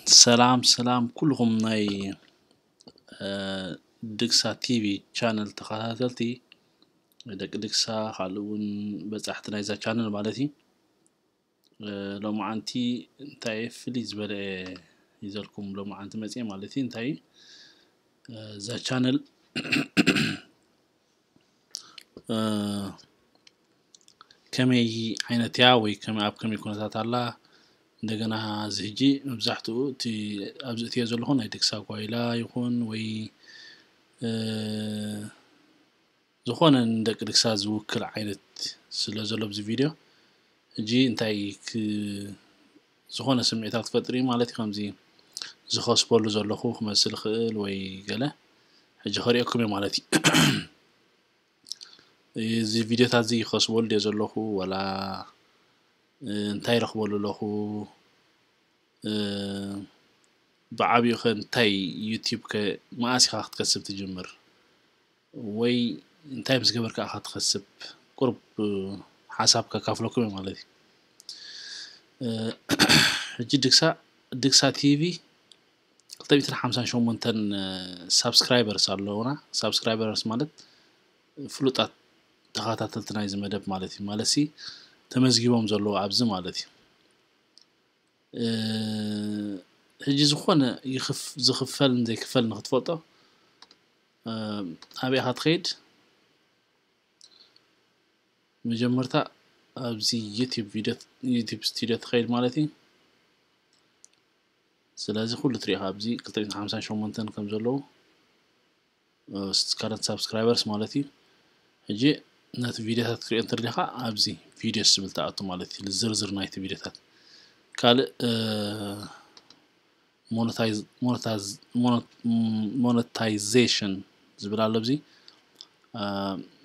ሰላም ሰላም ኩልኹም ናይ ድግሳ ቲቪ ቻነል ተኸታተልቲ፣ ደቂ ድግሳ ካልእ እውን በጻሕቲ ናይዛ ቻነል ማለት እዩ። ሎማዓንቲ እንታይ ፍልይ ዝበለ ይዘልኩም ሎማዓንቲ መፅየ ማለት እዩ። እንታይ እዛ ቻነል ከመይ ዓይነት እያ ወይ ኣብ ከመይ ኩነታት ኣላ? እንደገና እዚ ሕጂ መብዛሕትኡ እቲ ኣብዚ እትዮ ዘለኹ ናይ ድግሳ ጓይላ ይኹን ወይ ዝኾነ ንደቂ ድግሳ ዝውክል ዓይነት ስለ ዘሎ ኣብዚ ቪድዮ ሕጂ እንታይ ዝኾነ ስምዒታት ክፈጥር እዩ ማለት እዩ። ከምዚ ዝኸስበሉ ዘለኹ ክመስል ይኽእል ወይ ገለ ሕጂ ከሪኦኩም እየ ማለት እዩ። እዚ ቪድዮታት እዚ ይኸስበሉ ድየ ዘለኹ ዋላ እንታይ ረኽበሉ ኣለኹ? ብዓብዩ ከ እንታይ ዩቲብ ከ መኣስ ኢኻ ክትከስብ ትጅምር ወይ እንታይ ምስ ገበርካ ኢኻ ትኸስብ? ቁሩብ ሓሳብ ከካፍለኩም እየ ማለት እዩ። ሕጂ ድግሳ ድግሳ ቲቪ ክልተ ሚእትን ሓምሳን ሸሞንተን ሳብስክራይበርስ ኣለውና። ሳብስክራይበርስ ማለት ፍሉጣት ተኸታተልቲ ናይዚ መደብ ማለት እዩ። ማለት ሲ ተመዝጊቦም ዘለዉ ኣብዚ ማለት እዩ። ሕጂ ዝኾነ ዝኽፈልን ዘይክፈልን ንክትፈልጦ ኣበይ ኢኻ ትኸይድ? መጀመርታ ኣብዚ ዩቲብ ቪድዮ ዩቲብ ስቱዲዮ ትኸይድ ማለት እዩ። ስለዚ ኩሉ ትሪኢኻ ኣብዚ ክልተ ሚእትን ሓምሳን ሸሞንተን ከም ዘለዉ ከረንት ሳብስክራይበርስ ማለት እዩ። ሕጂ ነቲ ቪድዮታት ክትሪኦ እንተደሊኻ ኣብዚ ቪድዮስ ዝብል ትኣቱ ማለት እዩ። ዝርዝር ናይቲ ቪድዮታት ካልእ ሞነታይዜሽን ዝብል ኣሎ ኣብዚ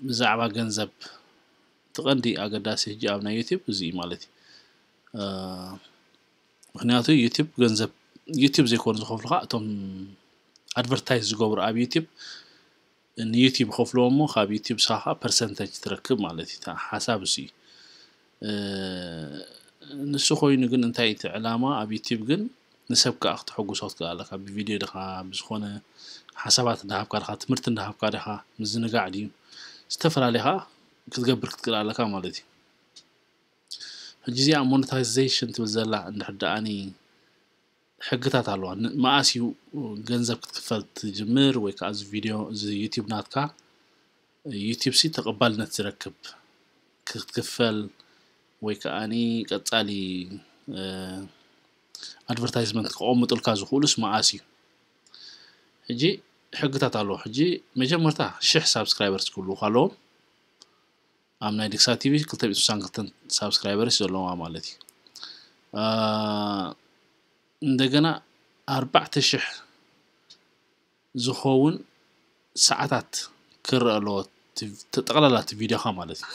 ብዛዕባ ገንዘብ እቲ ቀንዲ ኣገዳሲ ሕጂ ኣብ ናይ ዩቲብ እዚ እዩ ማለት እዩ። ምክንያቱ ዩቲብ ገንዘብ ዩቲብ ዘይኮኑ ዝኸፍሉካ እቶም ኣድቨርታይዝ ዝገብሩ ኣብ ዩቲብ ንዩቲብ ይኸፍልዎ እሞ ካብ ዩቲብ ሳኻ ፐርሰንተጅ ትረክብ ማለት እዩ። ሓሳብ እሱ እዩ። ንሱ ኮይኑ ግን እንታይ እቲ ዕላማ ኣብ ዩቲብ ግን ንሰብ ከዓ ክተሐጉሶ ክትክእል ኣለካ። ብቪድዮ ድኻ ብዝኾነ ሓሳባት እንዳሃብካ ድኻ ትምህርቲ እንዳሃብካ ድኻ ምዝንጋዕ ድዩ ዝተፈላለኻ ክትገብር ክትክእል ኣለካ ማለት እዩ። ሕጂ እዚኣ ሞኔታይዜሽን ትብል ዘላ እንድሕር ደኣኒ ሕግታት ኣለዋ። መኣስ እዩ ገንዘብ ክትክፈል ትጅምር ወይ ከዓ እዚ ቪድዮ እዚ ዩቲብ ናትካ ዩቲብ ሲ ተቐባልነት ዝረክብ ክትክፈል ወይ ከዓኒ ቀጻሊ ኣድቨርታይዝመንት ክቐምጥልካ ዝኽእሉስ መኣስ እዩ? ሕጂ ሕግታት ኣለዎ። ሕጂ መጀመርታ ሽሕ ሳብስክራይበርስ ክህልውካ ኣለዎም። ኣብ ናይ ድግሳ ቲቪ ክልተ ሚእትን ስሳን ክልተን ሳብስክራይበርስ ዘለዋ ማለት እዩ። እንደገና ኣርባዕተ ሽሕ ዝኸውን ሰዓታት ክረአ ኣለዎ ጠቕላላ እቲ ቪድዮኻ ማለት እዩ።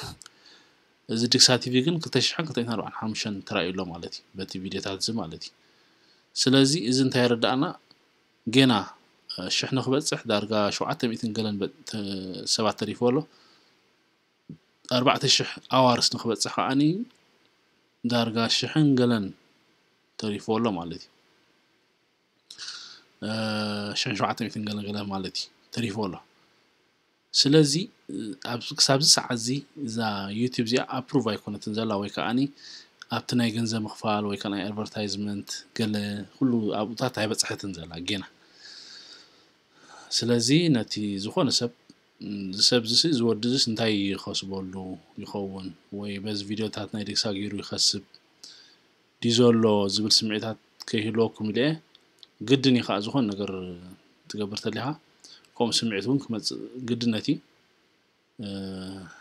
እዚ ድግሳ ቲቪ ግን ክልተ ሽሕን ክልተ ሚእትን ኣርባዓን ሓሙሽተን ተራእዩ ኣሎ ማለት እዩ በቲ ቪድዮታት እዚ ማለት እዩ። ስለዚ እዚ እንታይ የረዳእና? ጌና ሽሕ ንክበፅሕ ዳርጋ ሸውዓተ ሚእትን ገለን ሰባት ተሪፍዎ ኣሎ። ኣርባዕተ ሽሕ ኣዋርስ ንክበፅሕ ከዓኒ ዳርጋ ሽሕን ገለን ተሪፍዎ ኣሎ ማለት እዩ። ሽሕን ሸውዓተ ሚእትን ገለን ገለ ማለት እዩ ተሪፍዎ ኣሎ። ስለዚ ክሳብዚ ሰዓት እዚ እዛ ዩቲብ እዚኣ ኣፕሩቭ ኣይኮነትን ዘላ ወይ ከዓኒ ኣብቲ ናይ ገንዘብ ምኽፋል ወይ ከዓ ናይ ኣድቨርታይዝመንት ገለ ኩሉ ኣብኡታት ኣይበፅሐትን ዘላ ጌና። ስለዚ ነቲ ዝኾነ ሰብ እዚ ሰብ እዚ እዚ ወዲ እዚስ እንታይ ይኸስበሉ ይኸውን ወይ በዚ ቪድዮታት ናይ ድግሳ ገይሩ ይኸስብ ድዩ ዘሎ ዝብል ስምዒታት ከይህልወኩም ኢለ እየ። ግድን እዩ ከዓ ዝኾነ ነገር ትገብር ተሊኻ ከምኡ ስምዒት እውን ክመፅእ ግድነት እዩ።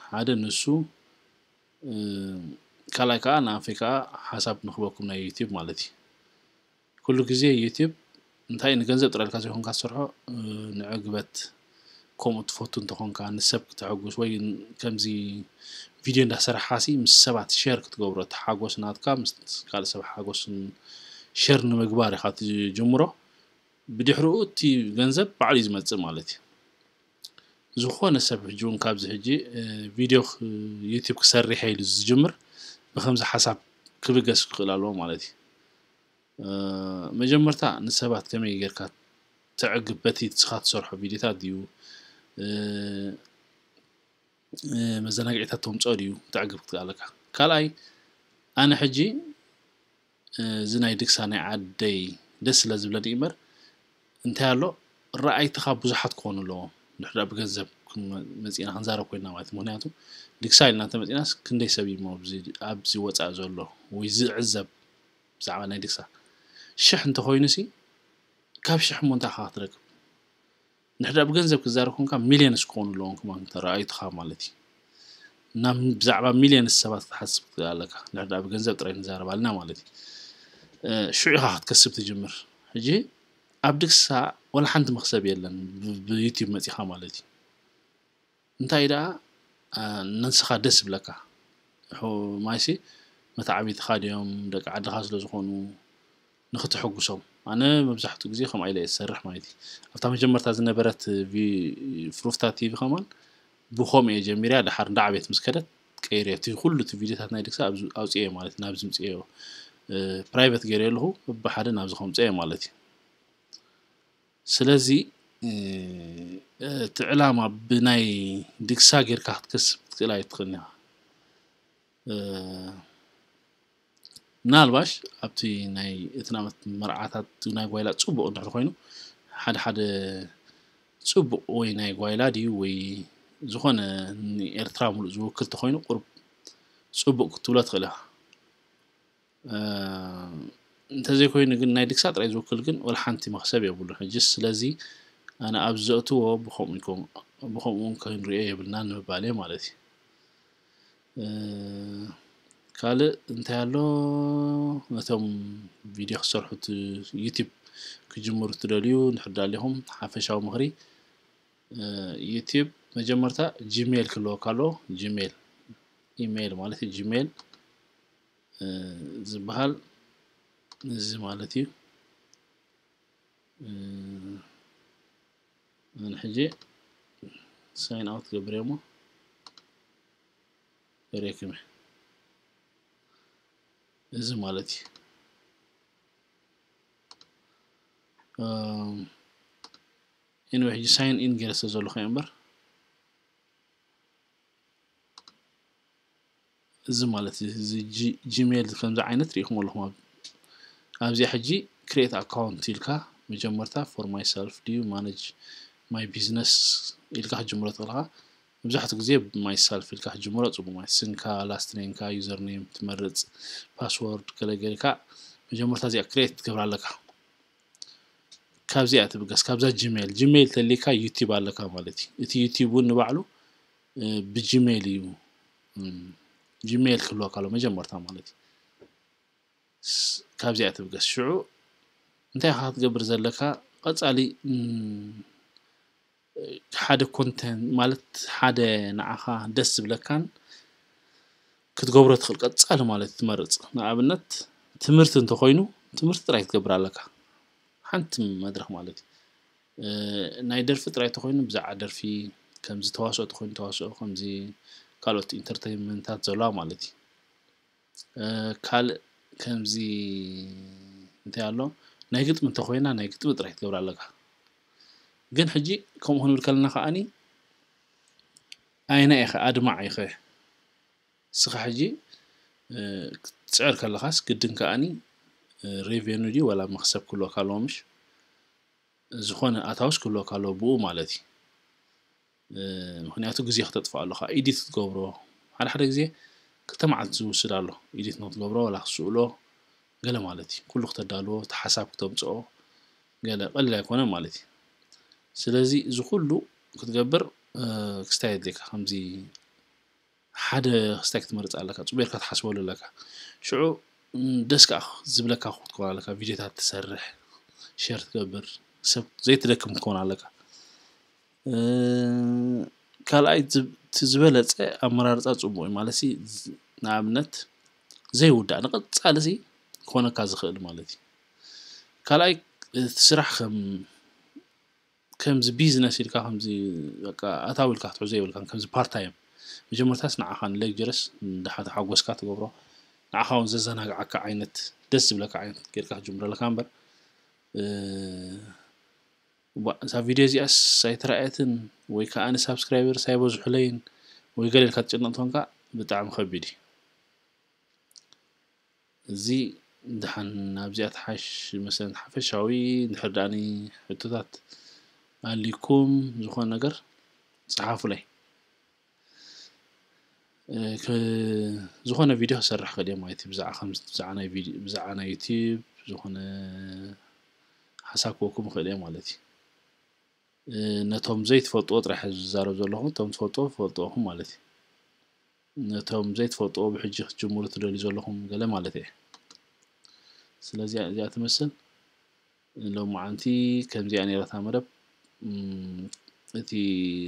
ሓደ ንሱ ካልኣይ ከዓ ንኣንፈይ ከዓ ሓሳብ ንክበኩም ናይ ዩቲብ ማለት እዩ። ኩሉ ግዜ ዩቲብ እንታይ ንገንዘብ ጥራይ ኢልካ ዘይኮንካ ትሰርሖ ንዕግበት ከምኡ ትፈቱ እንተኾንካ ንሰብ ክተሐጉስ ወይ ከምዚ ቪድዮ እንዳሰራሕኻሲ ምስ ሰባት ሸር ክትገብሮ እቲ ሓጎስ ናትካ ምስ ካልእ ሰብ ሓጎስ ሸር ንምግባር ኢኻ ትጅምሮ። ብድሕሪኡ እቲ ገንዘብ ባዕሉ እዩ ዝመፅእ ማለት እዩ። ዝኾነ ሰብ ሕጂ እውን ካብዚ ሕጂ ቪድዮ ዩቲብ ክሰርሕ ኢሉ ዝጅምር ብከምዚ ሓሳብ ክብገስ ክኽእል ኣለዎ ማለት እዩ። መጀመርታ ንሰባት ከመይ ጌርካ ተዕግብ? በቲ ንስኻ ትሰርሖ ቪድዮታት ድዩ መዘናግዒታት ተምፅኦ ድዩ ተዕግብ ክትክኣለካ? ካልኣይ፣ ኣነ ሕጂ እዚ ናይ ድግሳ ናይ ዓደይ ደስ ስለ ዝብለኒ እምበር እንታይ ኣሎ፣ ረኣይትኻ ብዙሓት ክኾኑ ኣለዎም። ንሕዳ ብገንዘብ መፂና ክንዛረብ ኮይና ማለት እዩ። ምክንያቱ ድግሳ ኢልና እንተመፂናስ ክንደይ ሰብ እዩ ኣብዚ ወፃኢ ዘሎ ወይ ዝዕዘብ ብዛዕባ ናይ ድግሳ? ሽሕ እንተኮይኑ ሲ ካብ ሽሕ እሞ እንታይ ኢኻ ክትረክብ? ንሕዳ ብገንዘብ ክዛረብ ኮንካ ሚልዮንስ ክኾኑ ኣለዎም ከማን ተረኣይትኻ ማለት እዩ። እና ብዛዕባ ሚልዮንስ ሰባት ክትሓስብ ትኽእል ኣለካ። ንሕዳ ብገንዘብ ጥራይ ንዛረብ ኣለና ማለት እዩ። ሽዑ ኢኻ ክትከስብ ትጅምር። ሕጂ ኣብ ድግሳ ወላ ሓንቲ መኽሰብ የለን ብዩቲብ መፂኻ ማለት እዩ። እንታይ ደኣ ነንስኻ ደስ ይብለካ። ማይሲ መተዓቢትኻ ድዮም ደቂ ዓድኻ ስለ ዝኾኑ ንክትሕጉሶም። ኣነ መብዛሕትኡ ግዜ ከምኣ ኢለ እየ ዝሰርሕ ማለት እዩ። ኣብታ መጀመርታ ዝነበረት ፍሩፍታ ቲቪ ከማን ብኸምኡ እየ ጀሚርያ። ደሓር እንዳ ዓብየት ምስ ከደት ቀይረ እቲ ኩሉ እቲ ቪድዮታት ናይ ድግሳ ኣብዚ ኣውፅኤ ማለት ናብዚ ምፅኤዮ ፕራይቨት ገይረ ኣለኹ። ብሓደ ናብዚ ከምፅኤ ማለት እዩ። ስለዚ እቲ ዕላማ ብናይ ድግሳ ጌርካ ክትከስብ ክትክእል ኣይትኽእልን ኢኻ። ምናልባሽ ኣብቲ ናይ እትናመት መርዓታት ናይ ጓይላ ፅቡቅ እንድሕር ኮይኑ ሓደ ሓደ ፅቡቅ ወይ ናይ ጓይላ ድዩ ወይ ዝኾነ ንኤርትራ ሙሉእ ዝውክል ተኮይኑ ቁሩብ ፅቡቅ ክትብሎ ትኽእል ኢኻ። እንተዘይኮይኑ ግን ናይ ድግሳ ጥራይ ዝውክል ግን ወላ ሓንቲ መኽሰብ የብሉን ሕጂ። ስለዚ ኣነ ኣብ ዘእትዎ ብኸምኡ ክንሪኦ የብልና ንምባል እየ ማለት እዩ። ካልእ እንታይ ኣሎ? ነቶም ቪድዮ ክሰርሑ ዩቲብ ክጅምሩ ትደልዩ እንድሕር ዳሊኹም ሓፈሻዊ ምኽሪ ዩቲብ መጀመርታ ጂሜል ክህልወካ ኣለዎ። ጂሜል ኢሜይል ማለት እዩ። ጂሜይል ዝበሃል እዚ ማለት እዩ። ሕጂ ሳይን ኣውት ገብረ እሞ ሬክመ እዚ ማለት እዩ። ኢንወ ሕጂ ሳይን ኢን ገይረ ስለ ዘለኹ እምበር እዚ ማለት እዚ ጂሜል ከምዚ ዓይነት ርኢኹም ኣለኹም። ኣብዚኣ ሕጂ ክሬት ኣካውንት ኢልካ መጀመርታ for myself ድዩ ማነጅ ማይ ቢዝነስ ኢልካ ክትጅምሮ ትኽእልካ። መብዛሕትኡ ግዜ ማይሰልፍ ኢልካ ክትጅምሮ ፅቡቅ ማለት ስንካ፣ ላስት ኔምካ፣ ዩዘር ኔም ትመርፅ፣ ፓስወርድ ገለገለ ኢልካ መጀመርታ እዚኣ ክሬት ትገብራ ኣለካ። ካብዚኣ ትብገስ ካብዛ ጂሜል ጂሜል ተሊካ ዩቲብ ኣለካ ማለት እዩ። እቲ ዩቲብ እውን ንባዕሉ ብጂሜል እዩ። ጂሜል ክህልወካ ኣሎ መጀመርታ ማለት እዩ። ካብዚኣ ትብገስ ሽዑ እንታይ ኢኻ ክትገብር ዘለካ? ቀፃሊ ሓደ ኮንተንት ማለት ሓደ ንዓኻ ደስ ዝብለካን ክትገብሮ ትኽእል ቀፃሊ ማለት ትመርፅ። ንኣብነት ትምህርቲ እንተኮይኑ ትምህርቲ ጥራይ ክትገብር ኣለካ። ሓንቲ መድረክ ማለት እዩ። ናይ ደርፊ ጥራይ ተኮይኑ ብዛዕባ ደርፊ፣ ከምዚ ተዋስኦ ተኮይኑ ተዋስኦ፣ ከምዚ ካልኦት ኢንተርቴይንመንታት ዘለዋ ማለት እዩ። ካልእ ከምዚ እንታይ ኣሎ ናይ ግጥሚ እንተኮይና ናይ ግጥሚ ጥራይ ክትገብር ኣለካ። ግን ሕጂ ከምኡ ክንብል ከለና ከዓኒ ኣይና ኢኸ ኣድማዕ ኢኸ እስኻ ሕጂ ክትፅዕር ከለኻስ ግድን ከዓኒ ሬቨኑ ድዩ ወላ መክሰብ ክህልወካ ኣለዎ ምሽ ዝኾነ ኣታውስ ክህልወካ ኣለዎ ብኡ ማለት እዩ። ምክንያቱ ግዜ ክተጥፍእ ኣለካ ኢዲት ክትገብሮ ሓደ ሓደ ግዜ ክልተ መዓልቲ ዝውስድ ኣሎ ኢዲት ንክትገብሮ ወላ ክትስእሎ ገለ ማለት እዩ። ኩሉ ክተዳልዎ እቲ ሓሳብ ክተምፅኦ ገለ ቀሊል ኣይኮነ ማለት እዩ። ስለዚ እዚ ኩሉ ክትገብር ክስታይ የድልየካ። ከምዚ ሓደ ክስታይ ክትመርፅ ኣለካ፣ ፅቡቅ ጌርካ ትሓስበሉ ኣለካ። ሽዑ ደስ ከዓ ዝብለካ ክትኮን ኣለካ፣ ቪድዮታት ትሰርሕ፣ ሸር ትገብር፣ ሰብ ዘይትደክም ክትኮን ኣለካ። ካልኣይ እቲ ዝበለፀ ኣመራርፃ ፅቡቅ እዩ ማለት ንኣብነት ዘይውዳእ ንቀፃሊ ክኾነካ ዝኽእል ማለት እዩ። ካልኣይ እቲ ስራሕ ከም ከምዚ ቢዝነስ ኢልካ ከምዚ በቃ ኣታዊ ኢልካ ክትሕዞ የብልካን። ከምዚ ፓርታይም መጀመርታስ ንዓኻ ንሌክጀረስ ንድሓ ተሓጎስካ ትገብሮ ንዓኻ እውን ዘዘናግዓካ ዓይነት ደስ ዝብለካ ዓይነት ጌርካ ክትጅምረለካ እምበር እዛ ቪድዮ እዚኣስ ኣይተረኣየትን ወይ ከዓ ንሳብስክራይበርስ ኣይበዝሑለይን ወይ ገለ ኢልካ ትጭነቕ እንተኾንካ ብጣዕሚ ከቢድ እዩ። እዚ ድሓን ናብዚኣ ትሓሽ መሰለን ሓፈሻዊ እንድሕር ደኣኒ ሕቶታት ኣልኩም ዝኾነ ነገር ጸሓፉለይ። ዝኾነ ቪድዮ ክሰርሕ ክእል እየ ማለት እዩ። ብዛዕባ ከም ብዛዕባ ናይ ቪድዮ ብዛዕባ ናይ ዩቲዩብ ዝኾነ ሓሳብ ክወኩም ክእል እየ ማለት እዩ። ነቶም ዘይትፈልጥዎ ጥራሕ ዝዛረብ ዘለኹ፣ እቶም ትፈልጥዎ ትፈልጥዎኹም ማለት እዩ። ነቶም ዘይትፈልጥዎ ብሕጂ ክትጅምሩ ትደልዩ ዘለኹም ገለ ማለት እየ። ስለዚ እዚኣ ትመስል ሎማዓንቲ ከምዚኣ ነይራታ መደብ። እቲ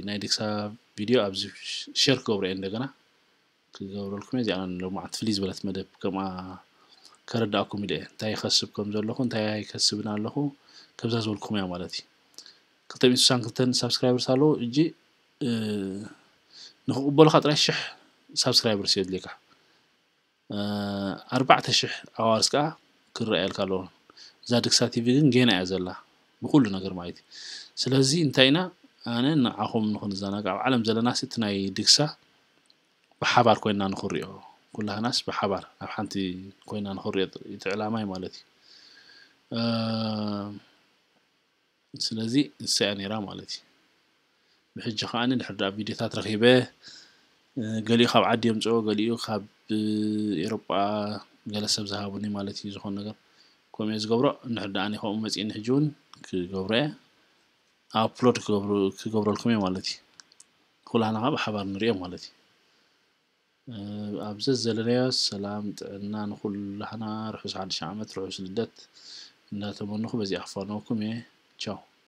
ናይ ድግሳ ቪድዮ ኣብዚ ሸር ክገብሮ እየ እንደገና ክገብረልኩም እየ። እዚኣ ሎማዓንቲ ፍልይ ዝበለት መደብ ከምኣ ከረዳእኩም ኢለ እየ። እንታይ ይኸስብ ከም ዘለኹ እንታይ ኣይከስብን ኣለኹ ከብዛ ዝበልኩም እያ ማለት እዩ። ክልተ ሚእቲ ስሳን ክልተን ሳብስክራይበርስ ኣለዉ እጂ ንክቕበሉካ ጥራይ ሽሕ ሳብስክራይበርስ የድልየካ። ኣርባዕተ ሽሕ ኣዋርስ ከዓ ክረኣየልካ ኣለዎ። እዛ ድግሳ ቲቪ ግን ጌና እያ ዘላ ብኩሉ ነገር ማለት እዩ። ስለዚ እንታይ ኢና ኣነ ንዓኹም ንክንዘናጋዕ ኣብ ዓለም ዘለና እቲ ናይ ድግሳ ብሓባር ኮይና ንክሪኦ ኩላህናስ ብሓባር ኣብ ሓንቲ ኮይና ንክሪኦ እቲ ዕላማይ ማለት እዩ። ስለዚ ንሳ እያ ነይራ ማለት እዩ። ብሕጂ ከዓኒ ድሕር ደኣ ቪድዮታት ረኺበ ገሊኡ ካብ ዓዲ የምፅኦ ገሊኡ ካብ ኤሮጳ ገለ ሰብ ዝሃቡኒ ማለት እዩ። ዝኾነ ነገር ከምኡ እየ ዝገብሮ። እንድሕር ደኣ ከምኡ መፂእኒ ሕጂ እውን ክገብሮ እየ። ኣፕሎድ ክገብረልኩም እየ ማለት እዩ። ኩላህና ካብ ሓባር ንሪኦ ማለት እዩ። ኣብ ዘዘለናዮ ሰላም ጥዕና ንኩላህና ርሑስ ሓድሽ ዓመት ርሑስ ልደት እንዳተመነኹ በዚኣ ክፋነወኩም እየ። ቻው።